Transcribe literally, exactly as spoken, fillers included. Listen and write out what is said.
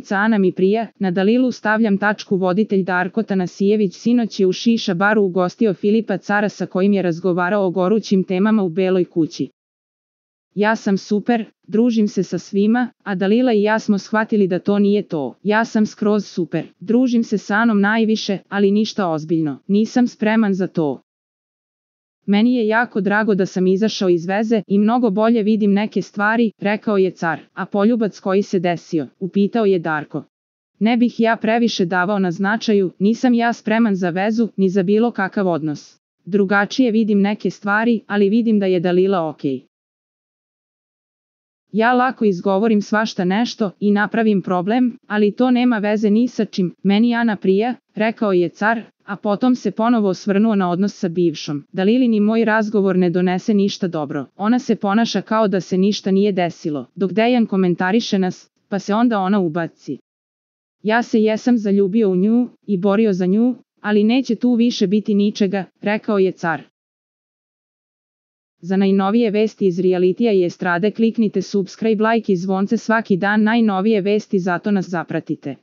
Glumica Ana mi prija, na Dalilu stavljam tačku. Voditelj Darko Tanasijević sinoć je u šiša baru ugostio Filipa Cara sa kojim je razgovarao o gorućim temama u Beloj kući. Ja sam super, družim se sa svima, a Dalila i ja smo shvatili da to nije to. Ja sam skroz super, družim se sa Anom najviše, ali ništa ozbiljno, nisam spreman za to. Meni je jako drago da sam izašao iz veze i mnogo bolje vidim neke stvari, rekao je Car. A poljubac koji se desio, upitao je Darko. Ne bih ja previše davao na značaju, nisam ja spreman za vezu, ni za bilo kakav odnos. Drugačije vidim neke stvari, ali vidim da je Dalila okej. Ja lako izgovorim svašta nešto i napravim problem, ali to nema veze ni sa čim. Meni Ana prija, rekao je Car, a potom se ponovo osvrnuo na odnos sa bivšom. Dalilin i moj razgovor ne donese ništa dobro. Ona se ponaša kao da se ništa nije desilo, dok Dejan komentariše nas, pa se onda ona ubaci. Ja se jesam zaljubio u nju i borio za nju, ali neće tu više biti ničega, rekao je Car. Za najnovije vesti iz realitija i estrade kliknite subscribe, like i zvonce svaki dan. Najnovije vesti, zato nas zapratite.